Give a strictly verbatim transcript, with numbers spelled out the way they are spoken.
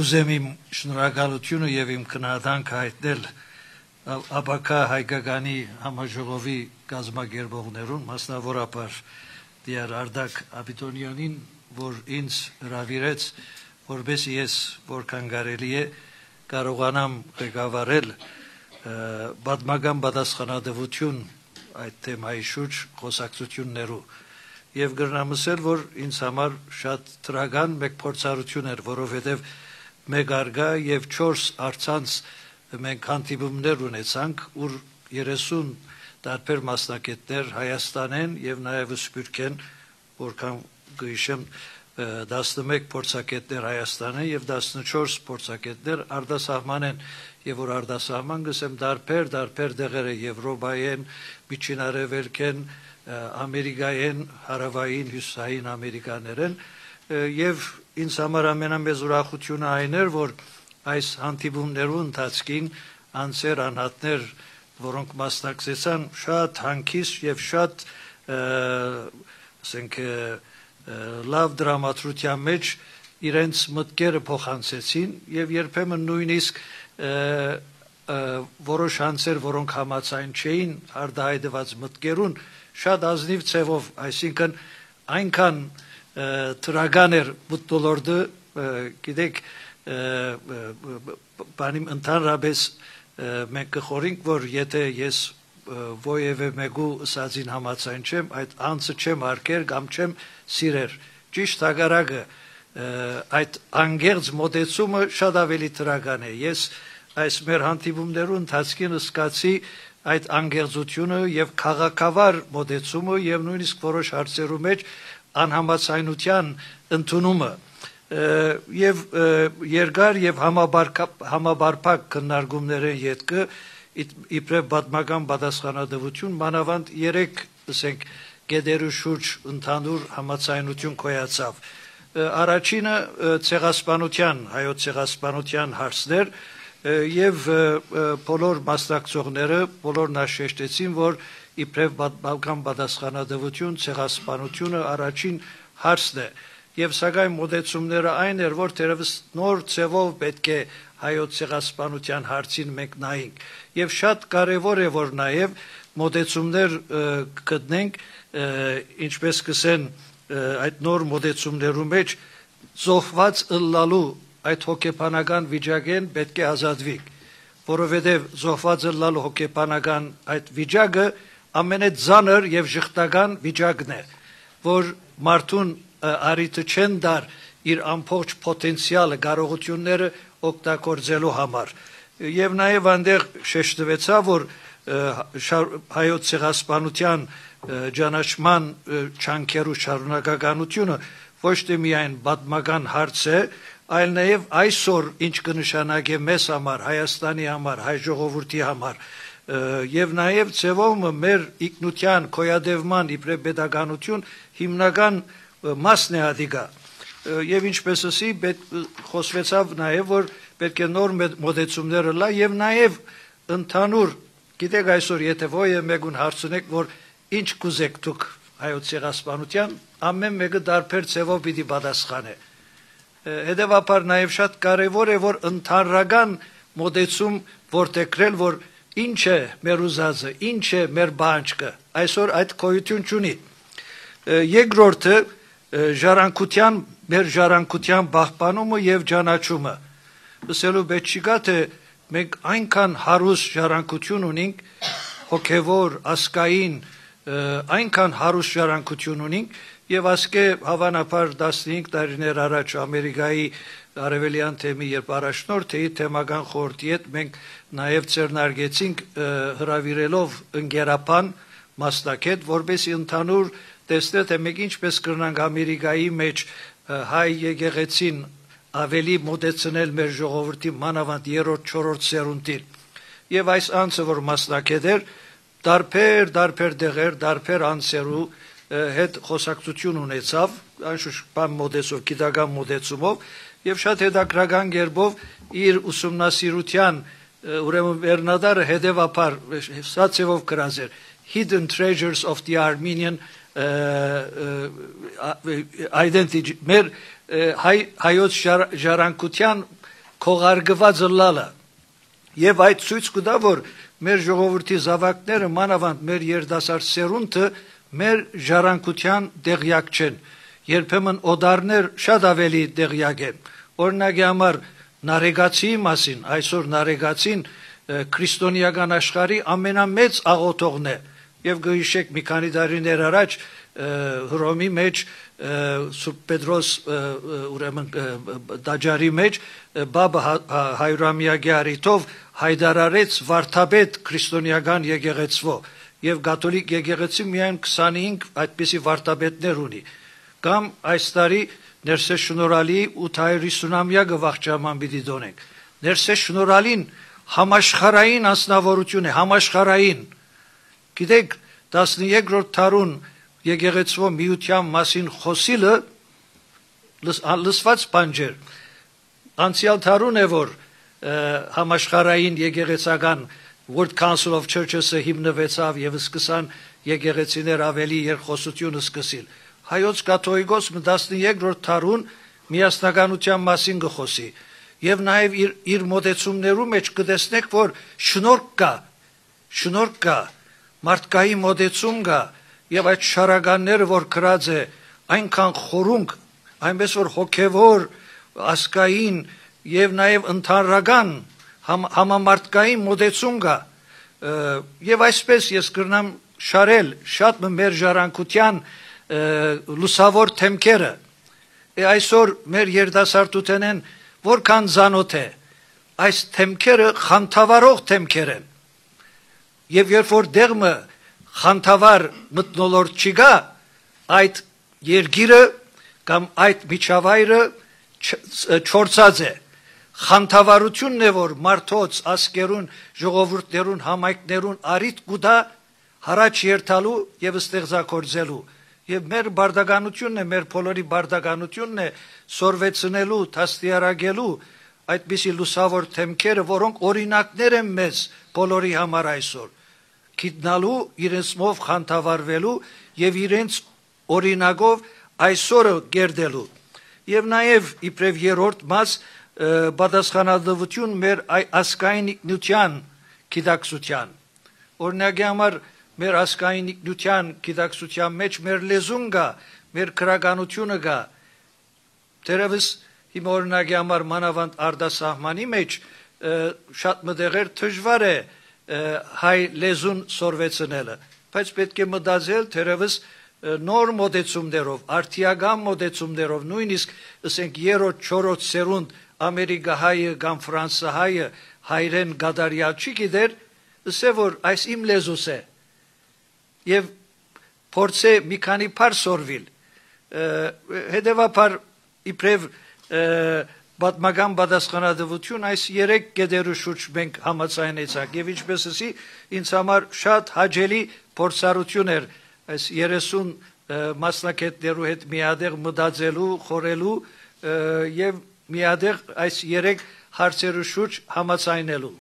Ուզեմ իմ շնորհակալությունը եւ իմ քննադանքը հայտնել ԱԲԿ հայկականի համաժողովի կազմակերպողներուն, մասնավորապես դիար Արդակ Աբիտոնյանին, որ ինձ հրավիրեց, որպեսզի ես որքան կարելի է կարողանամ ղեկավարել պատմական պատասխանատվություն այդ թեմայի շուրջ խոսակցություններու եւ գրնամ ասել, որ ինձ համար շատ դրական մեկ փորձառություն էր, որովհետեւ մեկ արգա եւ չորս արցանց մենք հանդիպումներ ունեցանք, ուր երեսուն տարբեր մասնակիցներ Հայաստանեն եւ նաեւ Սփյուռքեն, որքան գիշեմ տասնմեկ փորձագետներ Հայաստանեն եւ տասնչորս փորձագետներ արտասահմանեն եւ որ արտասահման գսեմ տարբեր տարբեր դեղերը Եվրոպայեն, Միջին Արևելքեն, Ամերիկայեն, Հարավային, Հյուսիսային Ամերիկաներեն եւ ինձ համար ամենամեծ ուրախությունը այն էր, որ այս հանդիպումներու ընթացքին անձեր անհատներ, որոնք մասնակցեցան, շատ հանգիստ եւ շատ ասենք լավ դրամատրության մեջ իրենց մտքերը փոխանցեցին եւ երբեմն նույնիսկ որոշ անձեր, որոնք համաձայն չէին արդահայտված մտքերուն, շատ ազնիվ ցևով, այսինքն այնքան թրագան էր մտոլորդը, գիտեք, բանիմ ընդհանրապես մենք կխորինք, որ եթե ես ովևէ մեկու ասածին համաձայն չեմ, այդ անձը չեմ արկեր կամ չեմ սիրեր։ Ճիշտ հակառակը, այդ անգերձ մոտեցումը շատ ավելի թրագան է։ Ես այս մեր հանդիպումներու ընթացքին սկացի այդ անգերձությունը եւ քաղաքավար մոտեցումը եւ նույնիսկ որոշ հարցերու մեջ անհամաձայնության ընդունումը եւ երկար եւ համաբարփակ քննարկումներեն յետքը իբրև պատմական պատասխանատվություն մանավանդ երեք ասենք գեդերու շուրջ ընդհանուր համաձայնություն կոյացավ։ Առաջինը ցեղասպանության, հայոց ցեղասպանության հարցներ եւ բոլոր մասնակցողները բոլորն աշեշտեցին, որ իբրև պատմական պատասխանատվություն, ցեղասպանությունը առաջին հարցն է եւ սակայն մոտեցումները այն էր, որ թերևս նոր ցևով պետք է հայոց ցեղասպանության հարցին մենք նայենք եւ շատ կարեւոր է, որ նաեւ մոտեցումներ գտնենք, ինչպես կսեն այդ նոր մոտեցումներու մեջ զոհված ըլլալու այդ հոգեբանական վիճակեն պետք է ազատվի, որովհետեւ զոհված ըլլալու հոգեբանական այդ վիճակը ամենածանր եւ ժխտական վիճակն է, որ մարդուն արիթը չեն դար իր ամբողջ պոտենցիալը, կարողությունները օգտագործելու համար։ Եվ նաեւ այնտեղ շեշտվեցավ, որ հայոց ցեղասպանության ճանաչման չանքերու շարունակականությունը ոչ թե միայն պատմական հարց է, այլ նաեւ այսօր ինչ կնշանակե մեզ համար, Հայաստանի համար, հայ ժողովրդի համար եւ նաեւ ցևոմը մեր ինքնության կոյադևման իբրև pedagogiություն հիմնական մասն է ադիգա եւ ինչպես ասի խոսվեցավ նաեւ որ պետք է նոր մոդեցումները լա եւ նաեւ ընդհանուր գիտեք այսօր եթե ովևէ մեկուն հարցնեք որ ինչ կուզեք դուք հայոց ցեղասպանության ամեն մեկը դարբեր ցևով պիտի պատասխանե հետեւաբար նաեւ շատ կարեւոր է որ ընդհանրական մոդեցում որտեղրել որ ինչ է մեր ուզածը, ինչ է մեր բանջկը, այսօր այդ գոյություն չունի։ Երկրորդը ժառանգության, մեր ժառանգության պահպանումը եւ ճանաչումը։ Ասելու պետք չկա թե մենք այնքան հարուստ ժառանգություն ունենք, հոգեվոր, ասկային, այնքան հարուստ ժառանգություն ունենք եւ ասկե հավանաբար տասնհինգ տարիներ առաջ Ամերիկայի արևելյան թեմի երբ առաջնորդ էի թեմական խորհրդի հետ մենք նաև ձեռնարկեցինք հրավիրելով ընկերապան մասնակետ, որպեսզի ընդհանուր տեսնե թե մենք ինչպես կրնանք Ամերիկայի մեջ հայ եկեղեցին ավելի մոտեցնել մեր ժողովրդի մանավանդ երրորդ, չորրորդ սերունդին։ Եվ այս անձը, որ մասնակետ էր, տարբեր, տարբեր դեղեր, տարբեր անձերու հետ խոսակցություն ունեցավ, անշուշտ բան մոտեցով, գիտական մոտեցումով եւ շատ հետաքրական կերպով իր ուսումնասիրության ուրեմն Բեռնադարը հետեւաբար սացեվով գրած էր Hidden Treasures of the Armenian Identity մեր հայոց ժառանգության քողարկված լալը եւ այդ ցույց կտա որ մեր ժողովրդի զավակները մանավանդ մեր երդասարդ սերունդը մեր ժառանգության դեղյակ չեն երբեմն օդարներ շատ ավելի դեղյակ են օրինակի համար նարեգացիի մասին այսօր նարեգացին քրիստոնեական աշխարհի ամենամեծ աղոթողն է եւ գհիշեք մի քանի տարիներ առաջ Հռոմի մեջ Սուրբ Պետրոս ուրեմն դաջարի մեջ բաբը հայրամյակի արիթով հայդարարեց վարդապետ քրիստոնեական եկեղեցվո եւ կաթոլիկ եկեղեցի միայն քսանհինգ այդպիսի վարդապետներ ունի կամ այս տարի ներսես շնորհալի ութ հարյուր հիսունամյակը վաղճաման պիտի դոնենք ներսես շնորհալին համաշխարհային անձնավորություն է համաշխարհային գիտեք տասնյոթերորդ դարուն եկեղեցվո միության մասին խոսիլը լսված բանջեր անցյալ դարուն է որ համաշխարհային եկեղեցական World Council of Churches-ը հիմնվեցավ եւ սկսան եկեղեցիներ ավելի երկխոսություն սկսել հայոց կաթողիկոս տասնյոթերորդ դարուն միասնականության մասին գխոսի եւ նաեւ իր իր մոդեցումներու մեջ կտեսնեք որ շնորհք կա շնորհք կա մարդկայի մոդեցում կա եւ այդ շարականները որ գրած է այնքան խորունկ այնպես որ հոգեվոր ասկային եւ նաեւ ընդհանրական համ, համամարտկային մոդեցում կա եւ այսպես ես կրնամ շարել շատ մեր ժառանգության լուսավոր թեմքերը այսօր մեր երդասարտութենեն որքան զանոթ է այս թեմքերը խանթավարող թեմքեր են եւ երբ որ դեղմը խանթավար մտնոլորտ չկա այդ երգիրը կամ այդ միջավայրը չորցած է խանթավարությունն է որ մարդոց ասկերուն ժողովուրդներուն համայնքներուն արիտ կուտա հարաճ երթալու եւ ստեղծագործելու եւ մեր բարդականությունն է մեր բոլորի բարդականությունն է սորվեցնելու դաստիարակելու այդպիսի լուսավոր թեմքերը որոնք օրինակներ են մեզ բոլորի համար այսօր գիտնալու իրենցով խանթավարվելու եւ իրենց օրինակով այսօրը գերդելու եւ նաեւ իբրև երրորդ մաս պատասխանատվություն մեր ասկային ինքնության գիտակցության օրինակի համար մեր ասկային ինքնության գիտակցության մեջ մեր լեզուն կա մեր քրականությունը կա դերևս հիմա օրինակի համար մանավանդ արտասահմանի մեջ շատ մտեղեր դժվար է հայ լեզուն սորվեցնելը բայց պետք է մտածել դերևս նոր մոդեցումներով արդիական մոդեցումներով նույնիսկ ասենք երրորդ չորրորդ սերունդ ամերիկահայը կամ ֆրանսահայը հայրեն գադարյալ չի գիտեր ասե որ այս իմ լեզուս է եւ փորձե մի քանի բար սորվիլ հետեւաբար իբրև պատմական պատասխանատվություն այս երեք գեդերու շուրջ մենք համաձայնեցանք եւ ինչպես ասի ինձ համար շատ հաճելի փորձառություն էր այս երեսուն մասնակիցներու հետ միադեղ մտածելու խորելու եւ միադեղ այս երեք հարցերու շուրջ համաձայնելու